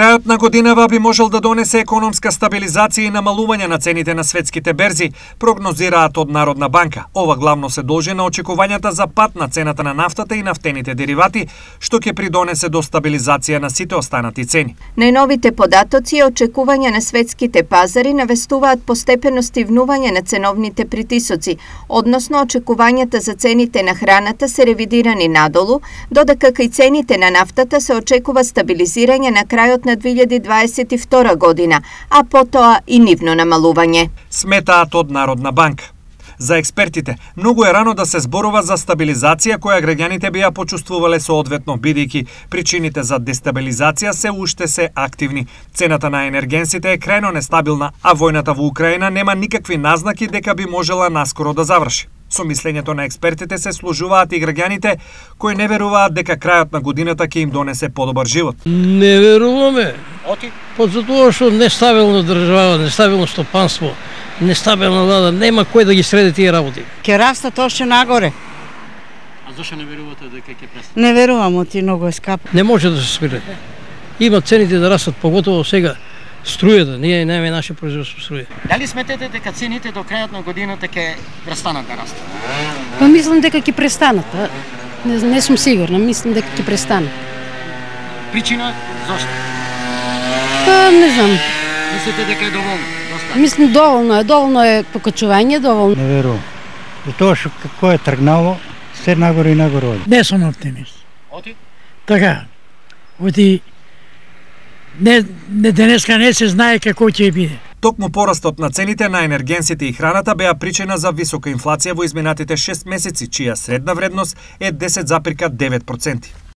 Крајот на годинава би можел да донесе економска стабилизација и намалување на цените на светските берзи, прогнозираат од Народна банка. Ова главно се должи на очекувањата за пат на цената на нафтата и нафтените деривати, што ќе придонесе до стабилизација на сите останати цени. Најновите податоци и очекувања на светските пазари навестуваат постепено стивнување на ценовните притисоци, односно очекувањата за цените на храната се ревидирани надолу, додека кај цените на нафтата се очекува стабилизирање на крајот на 2022 година, а потоа и нивно намалување. Сметаат од Народна банка. За експертите, многу е рано да се зборува за стабилизација која граѓаните би ја почувствувале соодветно, бидејќи причините за дестабилизација се уште се активни. Цената на енергенсите е крајно нестабилна, а војната во Украина нема никакви назнаки дека би можела наскоро да заврши. Со мислењето на експертите се служуваат и граѓаните кои не веруваат дека крајот на годината ќе им донесе подобар живот. Не веруваме. Затоа што нестабилна држава, нестабилно стопанство, нестабилна влада, нема кој да ги среди тие работи. Ќе растат уште нагоре. А зашто не верувате дека ќе престане? Не верувам, оти многу е скапо. Не може да се спире. Има цените да растат, поготово сега. Струјата, ние немаме наше производство струја. Дали сметате дека цените до крајот на годината ќе престанат да растат? Па мислам дека ќе престанат. Не сум сигурна, мислам дека ќе престанат. Причина зошто? Па не знам. Мислите дека е доволно? Доста? Мислам доволно е покачување, доволно. Не верувам. Затоа што како е тргнало, се нагоре и нагоре оди. Не сум оптимист. Оти? Така. Оти денеска не се знае како ќе биде. Токму порастот на цените на енергенсите и храната беа причина за висока инфлација во изминатите 6 месеци, чија средна вредност е 10,9%.